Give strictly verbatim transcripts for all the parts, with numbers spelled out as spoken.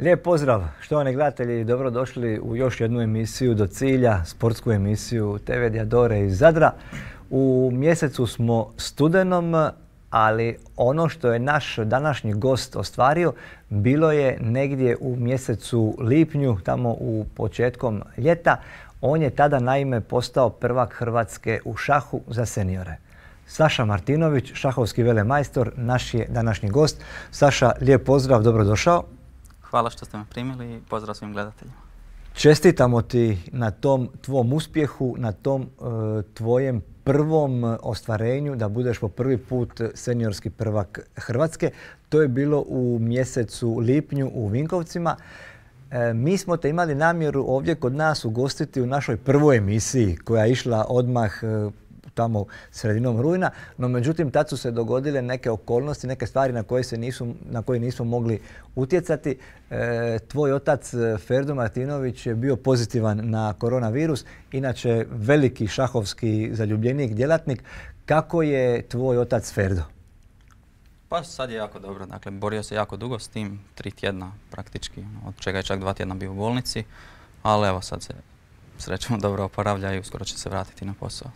Lijep pozdrav, štovani gledatelji, dobrodošli u još jednu emisiju Do cilja, sportsku emisiju te ve Diadore iz Zadra. U mjesecu smo studenom, ali ono što je naš današnji gost ostvario bilo je negdje u mjesecu lipnju, tamo u početkom ljeta. On je tada naime postao prvak Hrvatske u šahu za seniore. Saša Martinović, šahovski velemajstor, naš je današnji gost. Saša, lijep pozdrav, dobrodošao. Hvala što ste me primili i pozdrav svim gledateljima. Čestitamo ti na tom tvom uspjehu, na tom e, tvojem prvom ostvarenju da budeš po prvi put seniorski prvak Hrvatske. To je bilo u mjesecu lipnju u Vinkovcima. E, mi smo te imali namjeru ovdje kod nas ugostiti u našoj prvoj emisiji koja je išla odmah e, tamo sredinom rujna, no međutim tad su se dogodile neke okolnosti, neke stvari na koje, se nisu, na koje nismo mogli utjecati. E, tvoj otac Ferdo Martinović je bio pozitivan na koronavirus, inače veliki šahovski zaljubljenik, djelatnik. Kako je tvoj otac Ferdo? Pa sad je jako dobro, dakle borio se jako dugo s tim, tri tjedna praktički, od čega je čak dva tjedna bio u bolnici, ali evo sad se srećom dobro oporavlja i uskoro će se vratiti na posao.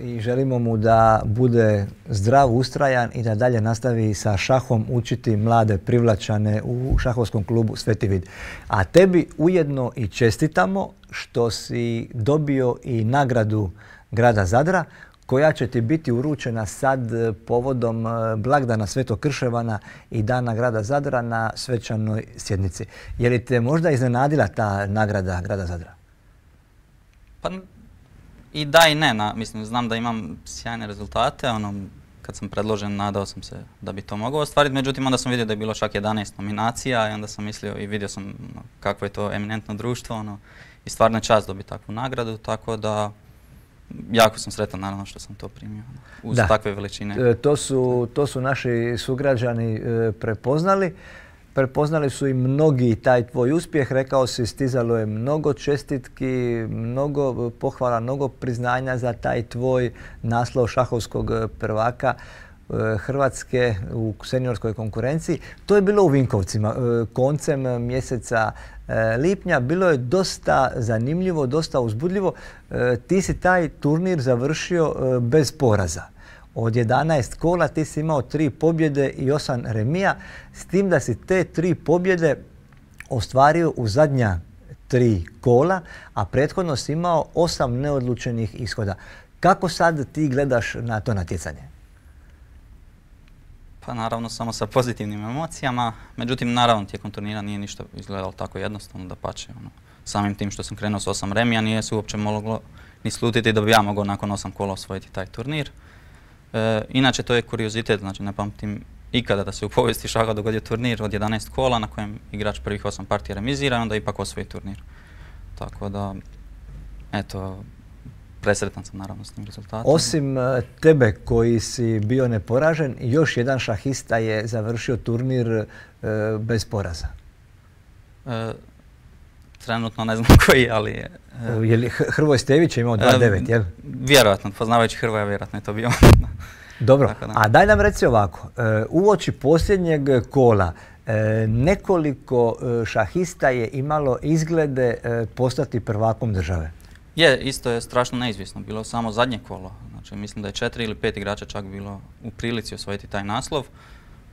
I želimo mu da bude zdrav, ustrajan i da dalje nastavi sa šahom učiti mlade privlačane u šahovskom klubu Sveti Vid. A tebi ujedno i čestitamo što si dobio i nagradu grada Zadra koja će ti biti uručena sad povodom blagdana Svetog Krševana i dana grada Zadra na svečanoj sjednici. Je li te možda iznenadila ta nagrada grada Zadra? Pa i da i ne, na, mislim, znam da imam sjajne rezultate, ono, kad sam predložen nadao sam se da bi to mogao ostvariti, međutim onda sam vidio da je bilo čak jedanaest nominacija i onda sam mislio i vidio sam no, kakvo je to eminentno društvo ono, i stvarno je čast dobiti takvu nagradu, tako da jako sam sretan naravno što sam to primio ono, uz da. takve veličine. E, to su, to su naši sugrađani e, prepoznali. Prepoznali su i mnogi taj tvoj uspjeh, rekao si, stizalo je mnogo čestitki, mnogo pohvala, mnogo priznanja za taj tvoj naslov šahovskog prvaka Hrvatske u seniorskoj konkurenciji. To je bilo u Vinkovcima koncem mjeseca lipnja. Bilo je dosta zanimljivo, dosta uzbudljivo. Ti si taj turnir završio bez poraza. Od jedanaest kola ti si imao tri pobjede i osam remija, s tim da si te tri pobjede ostvario u zadnja tri kola, a prethodno si imao osam neodlučenih ishoda. Kako sad ti gledaš na to natjecanje? Pa naravno samo sa pozitivnim emocijama, međutim naravno tijekom turnira nije ništa izgledalo tako jednostavno, dapače. Ono, samim tim što sam krenuo s osam remija nije se uopće moglo ni slutiti da bi ja mogao nakon osam kola osvojiti taj turnir. E, inače to je kuriozitet, znači ne pamtim ikada da se u povijesti šaha dogodio turnir od jedanaest kola na kojem igrač prvih osam partija remizira i onda ipak osvoji turnir. Tako da, eto, presretan sam naravno s tim rezultatom. Osim tebe koji si bio neporažen, još jedan šahista je završio turnir e, bez poraza. E, trenutno ne znam koji, ali je... E, je li Hrvoje Stević je imao dva devet, jel? Vjerojatno, poznavajući Hrvoja, vjerojatno je to bio. Dobro, a daj nam reci ovako, uoči posljednjeg kola nekoliko šahista je imalo izglede postati prvakom države. Je, isto je strašno neizvjesno, bilo samo zadnje kolo. Znači, mislim da je četiri ili pet igrača čak bilo u prilici osvojiti taj naslov.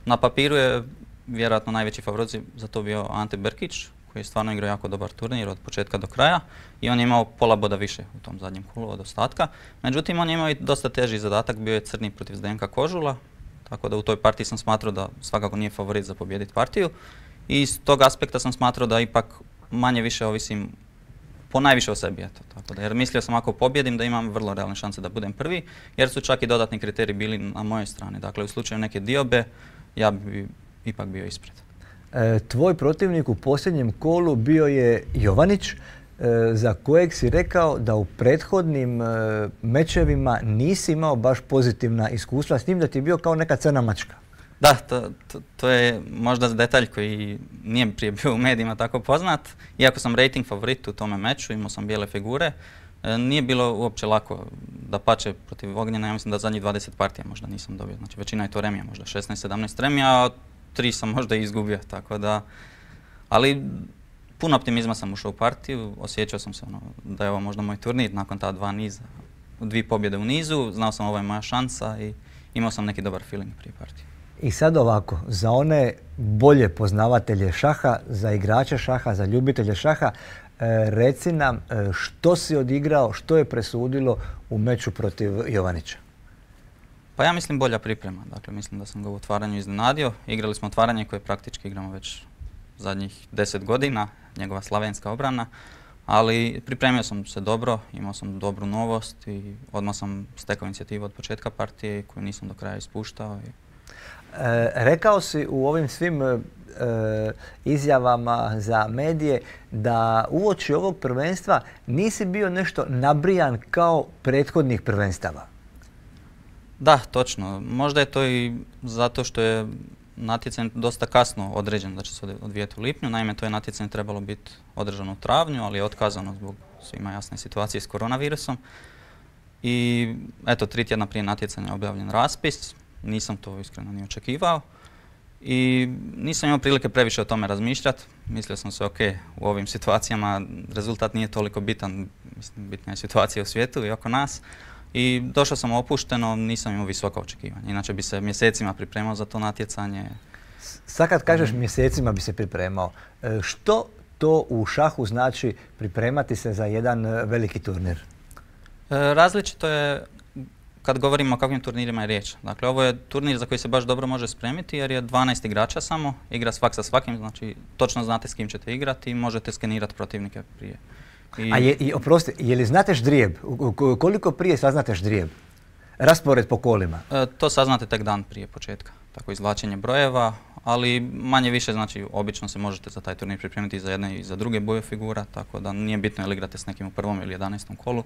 Na papiru je vjerojatno najveći favorit za to bio Ante Brkić, koji je stvarno igrao jako dobar turnir od početka do kraja i on je imao pola boda više u tom zadnjem kolu od ostatka. Međutim, on je imao i dosta teži zadatak, bio je crni protiv Zdenka Kožula, tako da u toj partiji sam smatrao da svakako nije favorit za pobijediti partiju i iz tog aspekta sam smatrao da ipak manje više ovisim po najviše o sebi. Eto, tako da, jer mislio sam ako pobjedim da imam vrlo realne šanse da budem prvi, jer su čak i dodatni kriteriji bili na mojoj strani. Dakle, u slučaju neke diobe ja bi ipak bio ispred. E, tvoj protivnik u posljednjem kolu bio je Jovanić, e, za kojeg si rekao da u prethodnim e, mečevima nisi imao baš pozitivna iskustva, s njim da ti je bio kao neka crna mačka. Da, to, to, to je možda detalj koji nije prije bio u medijima tako poznat. Iako sam rating favorit u tome meču, imao sam bijele figure, e, nije bilo uopće lako. Dapače, protiv Ognjena, ja mislim da zadnjih dvadeset partija možda nisam dobio. Znači većina je to remija, možda šesnaest sedamnaest remija, a tri sam možda i izgubio, tako da Ali puno optimizma sam ušao u partiju, osjećao sam se ono, da je ovo možda moj turnir nakon ta dva niza, dvije pobjede u nizu, znao sam ovo je moja šansa i imao sam neki dobar feeling prije partije. I sad ovako, za one bolje poznavatelje šaha, za igrače šaha, za ljubitelje šaha, e, reci nam e, što si odigrao, što je presudilo u meču protiv Jovanića? Pa ja mislim bolja priprema, dakle mislim da sam ga u otvaranju iznenadio. Igrali smo otvaranje koje praktički igramo već zadnjih deset godina, njegova slavenska obrana, ali pripremio sam se dobro, imao sam dobru novost i odmah sam stekao inicijativu od početka partije koju nisam do kraja ispuštao. I... E, rekao si u ovim svim e, izjavama za medije da uoči ovog prvenstva nisi bio nešto nabrijan kao prethodnih prvenstava. Da, točno. Možda je to i zato što je natjecanje dosta kasno određeno da će se odvijeti u lipnju. Naime, to je natjecanje trebalo biti održano u travnju, ali je otkazano zbog svima jasne situacije s koronavirusom. I eto, tri tjedna prije natjecanja je objavljen raspis. Nisam to iskreno ni očekivao. I nisam imao prilike previše o tome razmišljati. Mislio sam se, ok, u ovim situacijama rezultat nije toliko bitan. Mislim, bitna je situacija u svijetu i oko nas. I došao sam opušteno, nisam imao visoka očekivanja. Inače bi se mjesecima pripremao za to natjecanje. Sad kad kažeš mjesecima bi se pripremao, što to u šahu znači pripremati se za jedan veliki turnir? Različito je kad govorimo o kakvim turnirima je riječ. Dakle, ovo je turnir za koji se baš dobro može spremiti jer je dvanaest igrača samo, igra svak sa svakim, znači točno znate s kim ćete igrati i možete skenirati protivnike prije. I... A je, i, oprosti, je li znate ždrijeb? Koliko prije saznate ždrijeb? Raspored po kolima? E, to saznate tek dan prije početka. Tako izvlačenje brojeva, ali manje više, znači obično se možete za taj turnir pripremiti i za jedne i za druge boje figura, tako da nije bitno je li igrate s nekim u prvom ili jedanaestom kolu,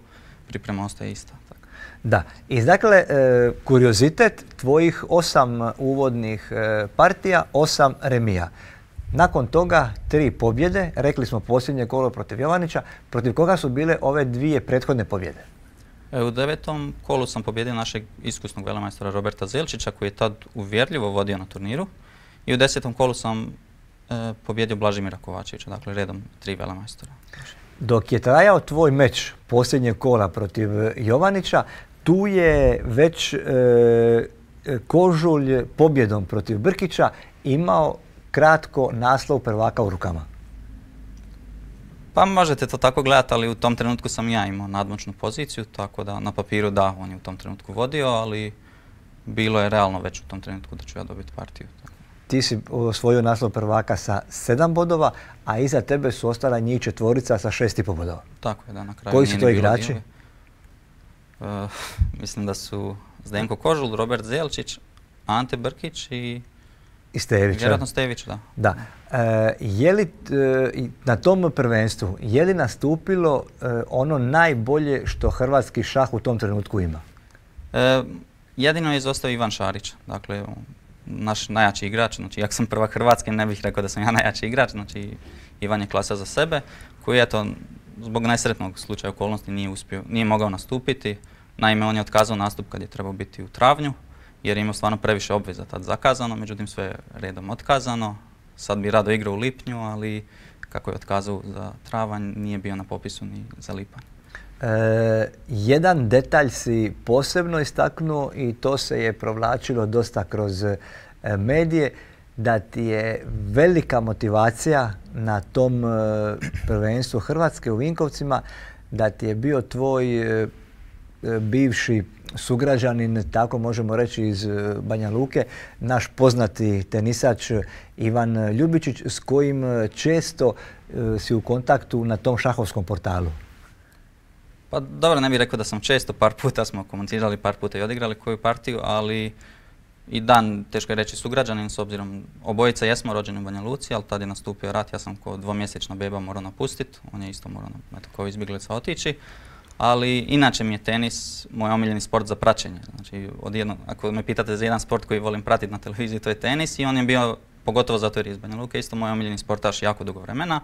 priprema ostaje ista. Tako. Da, i dakle, e, kuriozitet tvojih osam uvodnih e, partija, osam remija. Nakon toga tri pobjede, rekli smo posljednje kolo protiv Jovanića, protiv koga su bile ove dvije prethodne pobjede? E, u devetom kolu sam pobjedio našeg iskusnog velemajstora Roberta Zelčića koji je tad uvjerljivo vodio na turniru i u desetom kolu sam e, pobjedio Blažimira Kovačevića, dakle redom tri velemajstora. Dok je trajao tvoj meč posljednjeg kola protiv Jovanića, tu je već e, Kožulj pobjedom protiv Brkića imao kratko naslov prvaka u rukama. Pa možete to tako gledati, ali u tom trenutku sam ja imao nadmoćnu poziciju, tako da na papiru da, on je u tom trenutku vodio, ali bilo je realno već u tom trenutku da ću ja dobiti partiju. Tako. Ti si osvojio naslov prvaka sa sedam bodova, a iza tebe su ostala njih četvorica sa šest i pol bodova. Tako je, da, na kraju. Koji su to igrači? Uh, mislim da su Zdenko Kožul, Robert Zelčić, Ante Brkić i I Stević. Vjerojatno Stević, da. Da. E, je li e, na tom prvenstvu, je li nastupilo e, ono najbolje što hrvatski šah u tom trenutku ima? E, jedino je izostao Ivan Šarić, dakle naš najjači igrač, znači jak sam prvak Hrvatske ne bih rekao da sam ja najjači igrač, znači Ivan je klasa za sebe, koji eto zbog nesretnog slučaja okolnosti nije uspio, nije mogao nastupiti. Naime, on je otkazao nastup kad je trebao biti u travnju, jer je imao stvarno previše obveza tad zakazano, međutim sve je redom otkazano. Sad bi rado igrao u lipnju, ali kako je otkazao za travanj, nije bio na popisu ni za lipanj. E, jedan detalj si posebno istaknuo i to se je provlačilo dosta kroz e, medije, da ti je velika motivacija na tom e, prvenstvu Hrvatske u Vinkovcima, da ti je bio tvoj e, bivši sugrađanin, tako možemo reći iz Banja Luke, naš poznati tenisač Ivan Ljubičić, s kojim često si u kontaktu na tom šahovskom portalu. Pa dobro, ne bih rekao da sam često, par puta smo komunicirali, par puta i odigrali koju partiju, ali i dan, teško je reći sugrađanin, s obzirom obojica jesmo rođeni u Banja Luci, ali tad je nastupio rat, ja sam kao dvomjesečna beba morao napustiti, on je isto morao eto, kao izbjeglica otići. Ali inače mi je tenis moj omiljeni sport za praćenje. Znači, od jedno, ako me pitate za jedan sport koji volim pratiti na televiziji, to je tenis i on je bio, pogotovo zato jer je iz Banja Luke, isto moj omiljeni sportaš jako dugo vremena.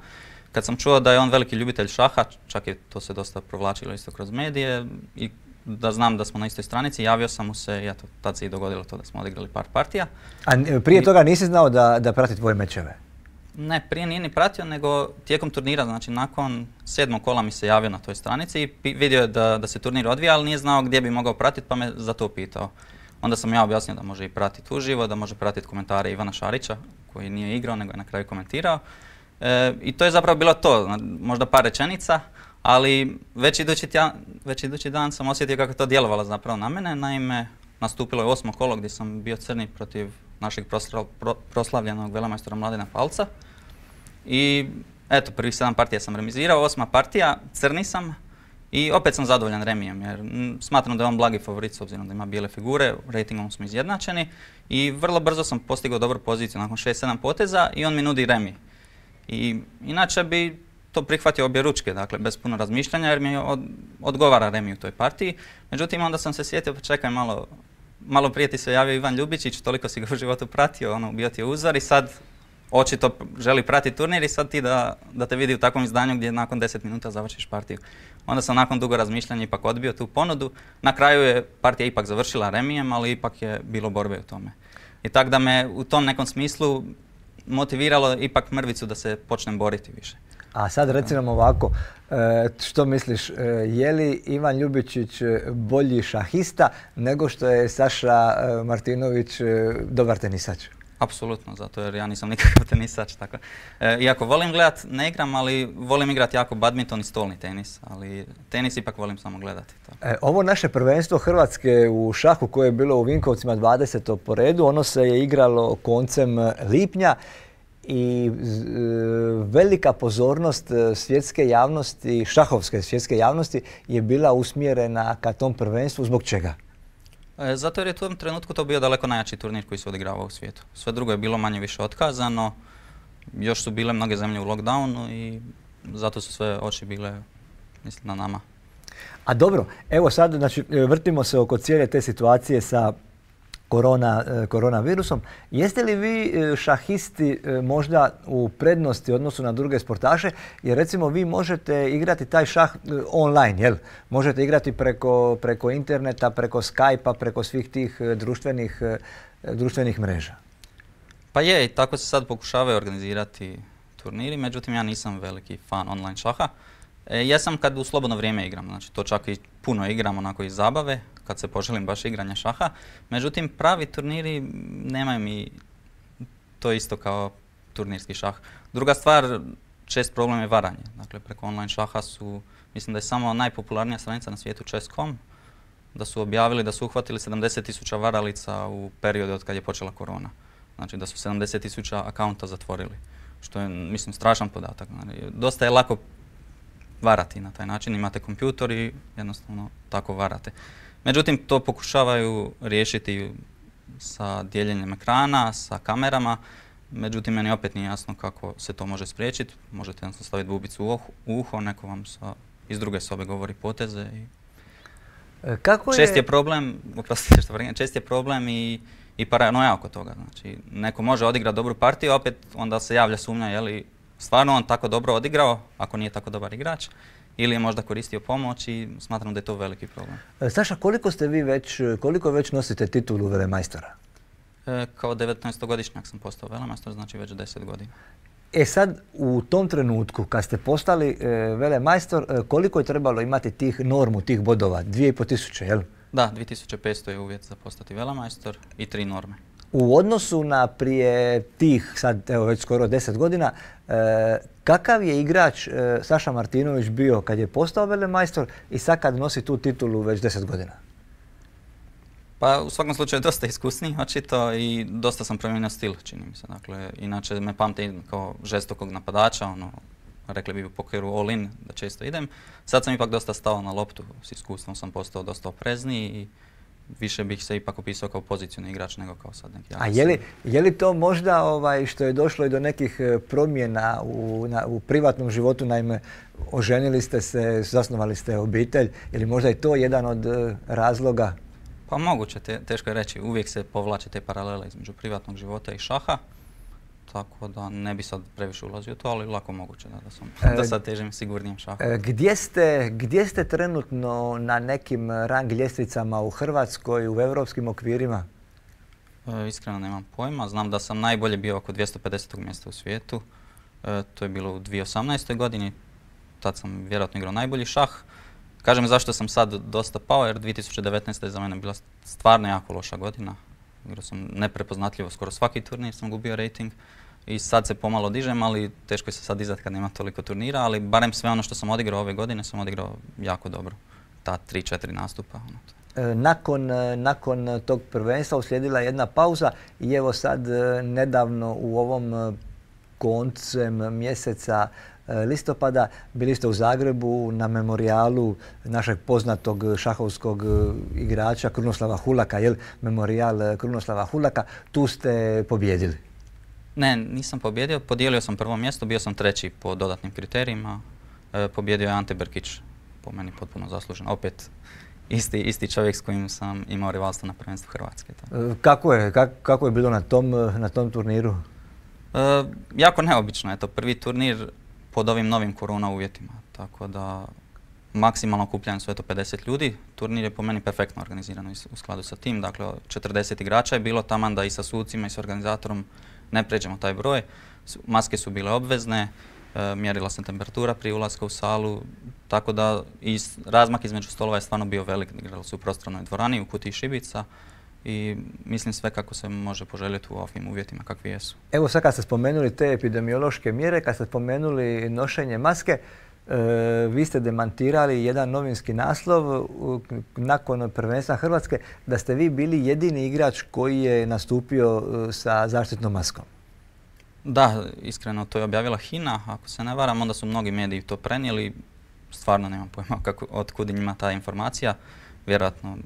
Kad sam čuo da je on veliki ljubitelj šaha, čak je to se dosta provlačilo isto kroz medije i da znam da smo na istoj stranici, javio sam mu se i eto, tad se i dogodilo to da smo odigrali par partija. A prije I, toga nisi znao da, da prati tvoje mečeve? Ne, prije nije ni pratio, nego tijekom turnira, znači nakon sedmog kola mi se javio na toj stranici i pi- vidio je da, da se turnir odvija, ali nije znao gdje bi mogao pratiti, pa me za to pitao. Onda sam ja objasnio da može i pratiti uživo, da može pratiti komentare Ivana Šarića, koji nije igrao, nego je na kraju komentirao. E, I to je zapravo bilo to, zna- možda par rečenica, ali već idući, tja- već idući dan sam osjetio kako je to djelovalo zapravo na mene. Naime, nastupilo je osmo kolo gdje sam bio crni protiv našeg prosla- pro- proslavljenog velemajstora Mladena Palca. I eto, prvih sedam partija sam remizirao, osma partija, crni sam i opet sam zadovoljan remijem jer mm, smatram da je on blagi favorit s obzirom da ima bijele figure, ratingom smo izjednačeni i vrlo brzo sam postigao dobru poziciju nakon šest sedam poteza i on mi nudi remi. I inače bi to prihvatio obje ručke, dakle bez puno razmišljanja jer mi od, odgovara remi u toj partiji. Međutim, onda sam se sjetio, pa čekaj malo, malo prije ti se javio Ivan Ljubičić, toliko si ga u životu pratio, ono, bio ti je uzor i sad očito želi pratiti turnir i sad ti da, da te vidi u takvom izdanju gdje nakon deset minuta završiš partiju. Onda sam nakon dugo razmišljanja ipak odbio tu ponudu. Na kraju je partija ipak završila remijem, ali ipak je bilo borbe u tome. I tako da me u tom nekom smislu motiviralo ipak mrvicu da se počnem boriti više. A sad reci nam ovako, e, što misliš, e, je li Ivan Ljubičić e, bolji šahista nego što je Saša e, Martinović e, dobar tenisač? Apsolutno, zato jer ja nisam nikakav tenisač. Tako. E, iako volim gledat, ne igram, ali volim igrati jako badminton i stolni tenis, ali tenis ipak volim samo gledati. Tako. E, ovo naše prvenstvo Hrvatske u šahu koje je bilo u Vinkovcima dvadeseto po redu, ono se je igralo koncem lipnja i z, e, velika pozornost svjetske javnosti, šahovske svjetske javnosti je bila usmjerena ka tom prvenstvu. Zbog čega? E, zato jer je u tom trenutku to bio daleko najjači turnir koji se odigravao u svijetu. Sve drugo je bilo manje više otkazano, još su bile mnoge zemlje u lockdownu i zato su sve oči bile, mislim, na nama. A dobro, evo sad znači, vrtimo se oko cijele te situacije sa korona, koronavirusom. Jeste li vi šahisti možda u prednosti u odnosu na druge sportaše? Jer recimo vi možete igrati taj šah online, jel? Možete igrati preko, preko interneta, preko Skype-a, preko svih tih društvenih, društvenih mreža. Pa je, i tako se sad pokušavaju organizirati turniri, međutim ja nisam veliki fan online šaha. E, jesam kad u slobodno vrijeme igram, znači to čak i puno igram onako iz zabave, kad se poželim baš igranja šaha. Međutim, pravi turniri nemaju mi to isto kao turnirski šah. Druga stvar, čest problem je varanje. Dakle, preko online šaha su, mislim da je samo najpopularnija stranica na svijetu chess dot com, da su objavili da su uhvatili sedamdeset tisuća varalica u periodu od kad je počela korona. Znači da su sedamdeset tisuća akaunta zatvorili, što je, mislim, strašan podatak. Znači, dosta je lako varati na taj način, imate kompjutor i jednostavno tako varate. Međutim, to pokušavaju riješiti sa dijeljenjem ekrana, sa kamerama, međutim, meni opet nije jasno kako se to može spriječiti. Možete jednostavno staviti bubicu u uho, neko vam sa, iz druge sobe govori poteze. I kako je... Čest je problem, oprostite što vremena, čest je problem i, i paranoja oko toga. Znači, neko može odigrati dobru partiju, a opet onda se javlja sumnja, je li stvarno on tako dobro odigrao, ako nije tako dobar igrač, ili je možda koristio pomoć i smatram da je to veliki problem. Saša, koliko ste vi već, koliko već nosite titulu velemajstora? E, kao devetnaestogodišnjak sam postao velemajstor, znači već deset godina. E sad, u tom trenutku, kad ste postali e, velemajstor, e, koliko je trebalo imati tih normu, tih bodova? Dvije i po tisuće, jel? Da, dvije tisuće petsto je uvjet za postati velemajstor i tri norme. U odnosu na prije tih, sad evo već skoro deset godina, e, kakav je igrač e, Saša Martinović bio kad je postao velemajstor i sad kad nosi tu titulu već deset godina? Pa u svakom slučaju dosta iskusniji, očito, i dosta sam promijenio stil, čini mi se. Dakle, inače me pamte kao žestokog napadača, ono, rekli bi u pokeru all in, da često idem. Sad sam ipak dosta stao na loptu, s iskustvom sam postao dosta oprezniji i više bih se ipak opisao kao pozicijni igrač nego kao sad neki. A je li, je li to možda ovaj, što je došlo i do nekih promjena u, na, u privatnom životu, naime oženili ste se, zasnovali ste obitelj, ili možda je to jedan od uh, razloga? Pa moguće, te, teško je reći, uvijek se povlače te paralele između privatnog života i šaha, tako da ne bi sad previše ulazio u to, ali lako moguće da, da, sam, da sad težim sigurnijem šahu. E, gdje ste, gdje ste trenutno na nekim rang ljestvicama u Hrvatskoj, u europskim okvirima? E, iskreno nemam pojma, znam da sam najbolje bio oko dvjesto pedesetog mjesta u svijetu, E, to je bilo u dvije tisuće osamnaestoj godini. Tad sam vjerojatno igrao najbolji šah. Kažem zašto sam sad dosta pao, jer dvije tisuće devetnaesta je za mene bila stvarno jako loša godina. Igrao sam neprepoznatljivo, skoro svaki turnir sam gubio rating. I sad se pomalo dižem, ali teško je se sad dizati kad nema toliko turnira, ali barem sve ono što sam odigrao ove godine sam odigrao jako dobro. Ta tri četiri nastupa. Nakon, nakon tog prvenstva uslijedila jedna pauza i evo sad nedavno u ovom koncem mjeseca listopada bili ste u Zagrebu na memorijalu našeg poznatog šahovskog igrača Krunoslava Hulaka, jel? Memorijal Krunoslava Hulaka. Tu ste pobjedili. Ne, nisam pobjedio. Podijelio sam prvo mjesto, bio sam treći po dodatnim kriterijima. E, pobjedio je Ante Brkić, po meni potpuno zaslužen. Opet isti, isti čovjek s kojim sam imao rivalstvo na prvenstvu Hrvatske. E, kako je, kak, kako je bilo na tom, na tom turniru? E, jako neobično je to. Prvi turnir pod ovim novim korona uvjetima. Tako da maksimalno okupljanje su eto pedeset ljudi. Turnir je po meni perfektno organiziran u skladu sa tim. Dakle, četrdeset igrača je bilo taman da i sa sucima i s organizatorom ne pređemo taj broj. Maske su bile obvezne, e, mjerila sam temperatura prije ulaska u salu, tako da i razmak između stolova je stvarno bio velik. Igrali su u prostranoj dvorani, u kutiji šibica i mislim sve kako se može poželjeti u ovim uvjetima kakvi jesu. Evo sad kad ste spomenuli te epidemiološke mjere, kad ste spomenuli nošenje maske, e, vi ste demantirali jedan novinski naslov u, nakon prvenstva Hrvatske da ste vi bili jedini igrač koji je nastupio sa zaštitnom maskom. Da, iskreno to je objavila HINA, ako se ne varam, onda su mnogi mediji to prenijeli. Stvarno nemam pojma kako, od kud njima ta informacija. Vjerojatno,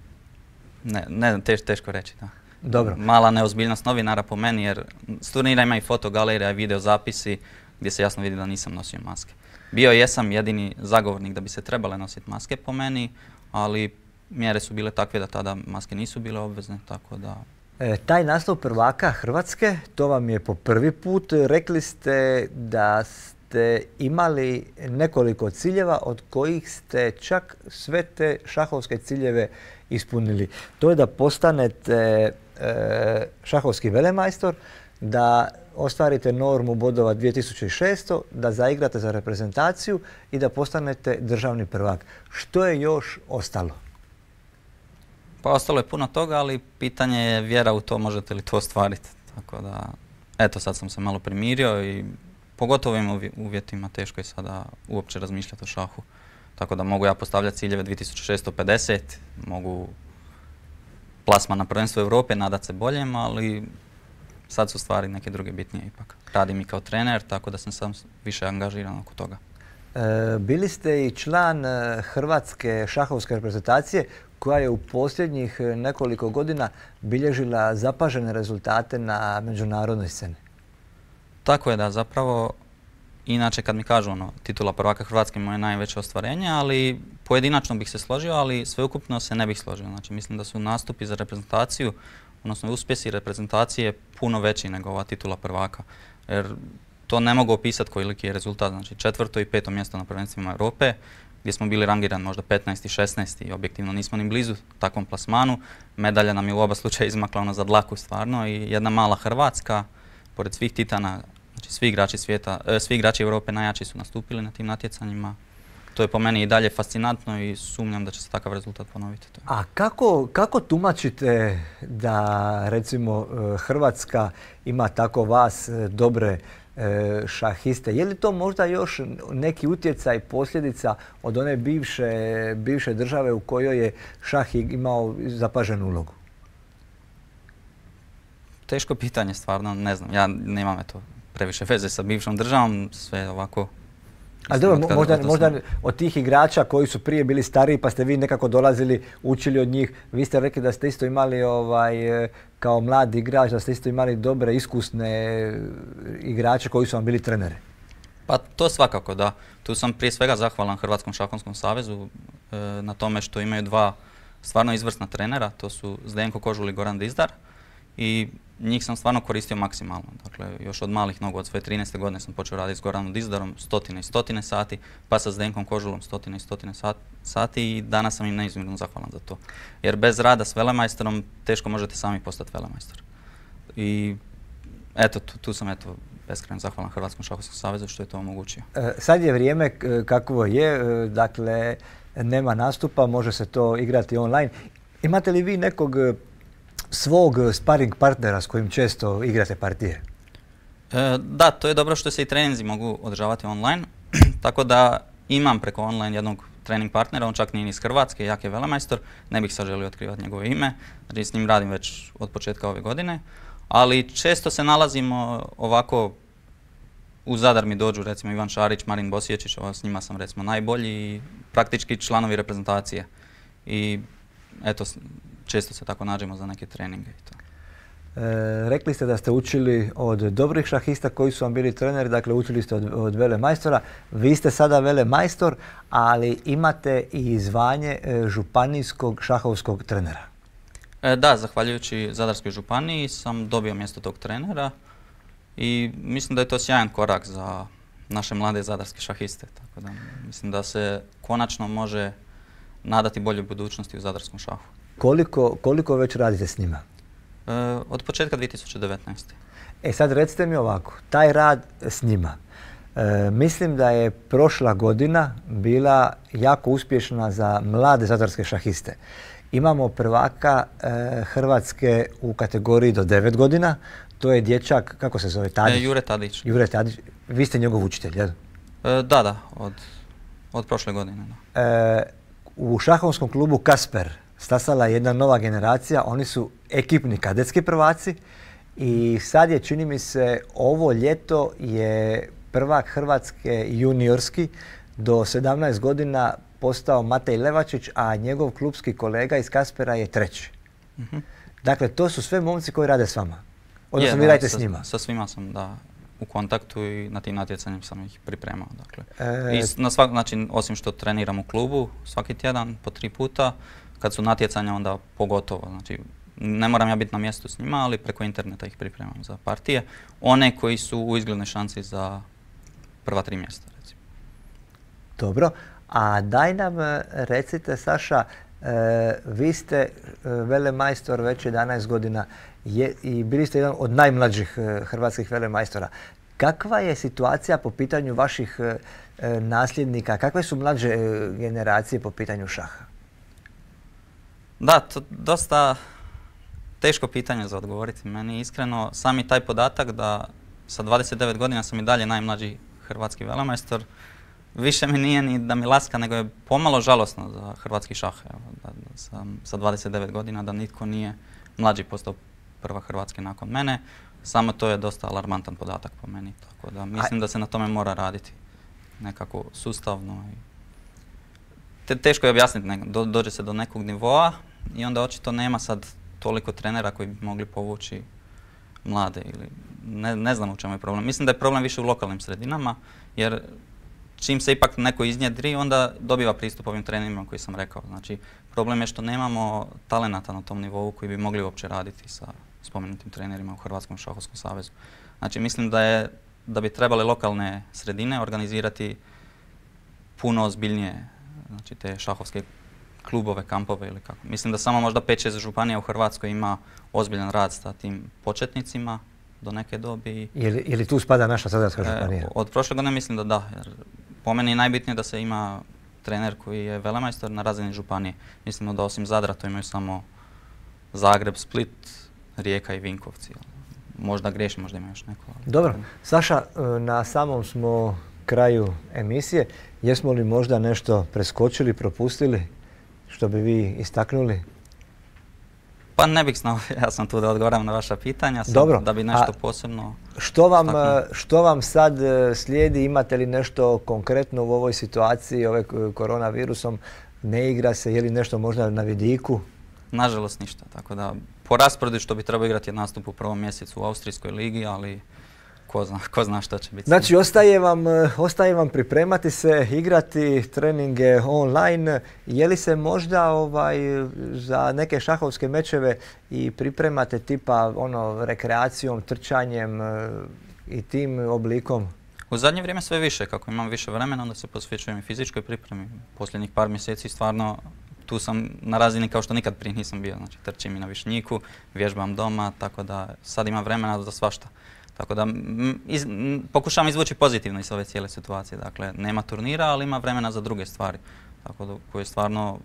ne, ne teš, teško reći. Da. Dobro. Mala neozbiljnost novinara po meni, jer s turnira ima i fotogalerija i video zapisi gdje se jasno vidi da nisam nosio maske. Bio jesam jedini zagovornik da bi se trebale nositi maske po meni, ali mjere su bile takve da tada maske nisu bile obvezne, tako da... E, taj naslov prvaka Hrvatske, to vam je po prvi put. Rekli ste da ste imali nekoliko ciljeva od kojih ste čak sve te šahovske ciljeve ispunili. To je da postanete e, šahovski velemajstor, da ostvarite normu bodova dvije tisuće šesto, da zaigrate za reprezentaciju i da postanete državni prvak. Što je još ostalo? Pa ostalo je puno toga, ali pitanje je vjera u to, možete li to ostvariti. Tako da, eto sad sam se malo primirio i pogotovo ovim uvjetima teško je sada uopće razmišljati o šahu. Tako da mogu ja postavljati ciljeve dvije tisuće šesto pedeset, mogu plasman na prvenstvo Europe, nadat se boljem, ali sad su stvari neke druge bitnije ipak. Radim i kao trener, tako da sam sam više angažiran oko toga. E, bili ste i član Hrvatske šahovske reprezentacije koja je u posljednjih nekoliko godina bilježila zapažene rezultate na međunarodnoj sceni. Tako je da, zapravo, inače kad mi kažu ono, titula prvaka Hrvatske moje najveće ostvarenje, ali pojedinačno bih se složio, ali sveukupno se ne bih složio. Znači, mislim da su nastupi za reprezentaciju, odnosno uspjesi reprezentacije puno veći nego ova titula prvaka. Jer to ne mogu opisati koliki je rezultat. Znači, četvrto i peto mjesto na prvenstvima Europe, gdje smo bili rangirani možda petnaesti i šesnaesti i objektivno nismo ni blizu takvom plasmanu. Medalja nam je u oba slučaja izmakla ono za dlaku stvarno i jedna mala Hrvatska, pored svih titana, znači svi igrači svijeta, e, svi igrači Europe najjači su nastupili na tim natjecanjima. To je po meni i dalje fascinantno i sumnjam da će se takav rezultat ponoviti. A kako, kako tumačite da recimo Hrvatska ima tako vas dobre šahiste? Je li to možda još neki utjecaj, posljedica od one bivše, bivše države u kojoj je šah imao zapaženu ulogu? Teško pitanje stvarno, ne znam. Ja nemam eto previše veze sa bivšom državom, sve ovako. Ali dobro, možda, možda od tih igrača koji su prije bili stariji pa ste vi nekako dolazili, učili od njih. Vi ste rekli da ste isto imali ovaj, kao mladi igrač, da ste isto imali dobre, iskusne igrače koji su vam bili treneri. Pa to svakako da. Tu sam prije svega zahvalan Hrvatskom šahovskom savezu e, na tome što imaju dva stvarno izvrsna trenera. To su Zdenko Kožul i Goran Dizdar. I njih sam stvarno koristio maksimalno. Dakle, još od malih nogu, od svoje trinaeste godine sam počeo raditi s Goranom Dizdarom stotine i stotine sati, pa sa Zdenkom Kožulom stotine i stotine sati i danas sam im neizmjerno zahvalan za to. Jer bez rada s velemajstorom teško možete sami postati velemajstor. I eto, tu, tu sam eto beskrajno zahvalan Hrvatskom šahovskom savezu što je to omogućio. E, sad je vrijeme kakvo je, e, dakle nema nastupa, može se to igrati online. Imate li vi nekog svog sparring partnera s kojim često igrate partije? E, da, to je dobro što se i treninzi mogu održavati online, tako da imam preko online jednog trening partnera, on čak nije iz Hrvatske, jak je velemajstor, ne bih sad želio otkrivati njegovo ime, znači s njim radim već od početka ove godine, ali često se nalazimo ovako, u Zadar mi dođu recimo Ivan Šarić, Marin Bosiječić, s njima sam recimo najbolji i praktički članovi reprezentacije. I eto, često se tako nađemo za neke treninge i to. E, rekli ste da ste učili od dobrih šahista koji su vam bili treneri, dakle učili ste od, od velemajstora. Vi ste sada velemajstor, ali imate i zvanje e, županijskog šahovskog trenera. E, da, zahvaljujući Zadarskoj županiji sam dobio mjesto tog trenera i mislim da je to sjajan korak za naše mlade zadarske šahiste. Tako da mislim da se konačno može nadati boljoj budućnosti u zadarskom šahu. Koliko, koliko već radite s njima? E, od početka dvije tisuće devetnaeste. E sad recite mi ovako, taj rad s njima. E, mislim da je prošla godina bila jako uspješna za mlade zadarske šahiste. Imamo prvaka e, Hrvatske u kategoriji do devet godina. To je dječak, kako se zove, Tadić? E, Jure Tadić. Jure Tadić. Vi ste njegov učitelj, jel? E, da, da, od, od prošle godine. Da. E, u šahovskom klubu Kasper stasala je jedna nova generacija. Oni su ekipni kadetski prvaci i sad je, čini mi se, ovo ljeto je prvak Hrvatske juniorski do sedamnaest godina postao Matej Levačić, a njegov klubski kolega iz Kaspera je treći. Uh-huh. Dakle, to su sve momci koji rade s vama. Odnosno, vi radite s njima. Sa svima sam, da, u kontaktu i na tim natjecanjem sam ih pripremao. Dakle. E... I na svak način, osim što treniram u klubu svaki tjedan po tri puta, kad su natjecanja onda pogotovo. Znači, ne moram ja biti na mjestu s njima, ali preko interneta ih pripremam za partije. One koji su u izglednoj šansi za prva tri mjesta, recimo. Dobro. A daj nam recite, Saša, e, vi ste e, velemajstor već jedanaest godina je, i bili ste jedan od najmlađih e, hrvatskih velemajstora. Kakva je situacija po pitanju vaših e, nasljednika? Kakve su mlađe e, generacije po pitanju šaha? Da, to dosta teško pitanje za odgovoriti. Meni iskreno sami taj podatak da sa dvadeset devet godina sam i dalje najmlađi hrvatski velemajstor, više mi nije ni da mi laska, nego je pomalo žalosno za hrvatski šah. Evo, da, da sam sa dvadeset devet godina da nitko nije mlađi postao prva Hrvatske nakon mene. Samo to je dosta alarmantan podatak po meni. Tako da mislim da se na tome mora raditi nekako sustavno. I te, teško je objasniti, ne, do, dođe se do nekog nivoa i onda očito nema sad toliko trenera koji bi mogli povući mlade. Ili ne, ne znam u čemu je problem. Mislim da je problem više u lokalnim sredinama, jer čim se ipak neko iznjedri, onda dobiva pristup ovim trenerima koji sam rekao. Znači, problem je što nemamo talenata na tom nivou koji bi mogli uopće raditi sa spomenutim trenerima u Hrvatskom šahovskom savezu. Znači, mislim da, je, da bi trebale lokalne sredine organizirati puno ozbiljnije, znači, te šahovske klubove, kampove ili kako. Mislim da samo možda pet šest županija u Hrvatskoj ima ozbiljan rad sa tim početnicima do neke dobi. Je li tu spada naša Zadarska županija? E, od prošle godine mislim da da, jer po meni je najbitnije da se ima trener koji je velemajstor na razini županije. Mislim da osim Zadra to imaju samo Zagreb, Split, Rijeka i Vinkovci. Možda griješim, možda ima još neko. Dobro. Saša, na samom smo kraju emisije. Jesmo li možda nešto preskočili, propustili, što bi vi istaknuli? Pa ne bih znao, ja sam tu da odgovaram na vaša pitanja, sam Dobro. Da bi nešto posebno što vam, što vam sad slijedi? Imate li nešto konkretno u ovoj situaciji, ove koronavirusom? Ne igra se, je li nešto možda na vidiku? Nažalost ništa, tako da po rasporedu što bi trebao igrati je nastup u prvom mjesecu u Austrijskoj ligi, ali ko zna, ko zna što će biti. Znači, ostaje vam, ostaje vam pripremati se, igrati treninge online. Je li se možda ovaj, za neke šahovske mečeve i pripremate tipa ono, rekreacijom, trčanjem i tim oblikom? U zadnje vrijeme sve više. Kako imam više vremena, onda se posvećujem i fizičkoj pripremi. Posljednjih par mjeseci stvarno tu sam na razini kao što nikad prije nisam bio. Znači, trčim i na Višnjiku, vježbam doma, tako da sad imam vremena za svašta. Tako da iz, pokušavam izvući pozitivno iz ove cijele situacije. Dakle, nema turnira, ali ima vremena za druge stvari. Tako da koje stvarno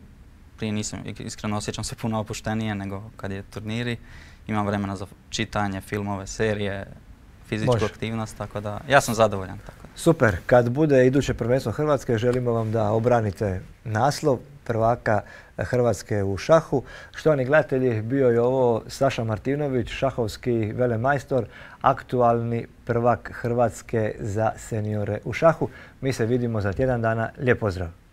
prije nisam, iskreno osjećam se puno opuštenije nego kad je turniri. Imam vremena za čitanje, filmove, serije, fizičku Može. aktivnost, tako da ja sam zadovoljan. Tako da. Super, kad bude iduće prvenstvo Hrvatske, želimo vam da obranite naslov prvaka Hrvatske u šahu. Štovani gledatelji, bio je ovo Saša Martinović, šahovski velemajstor, aktualni prvak Hrvatske za seniore u šahu. Mi se vidimo za tjedan dana. Lijep pozdrav!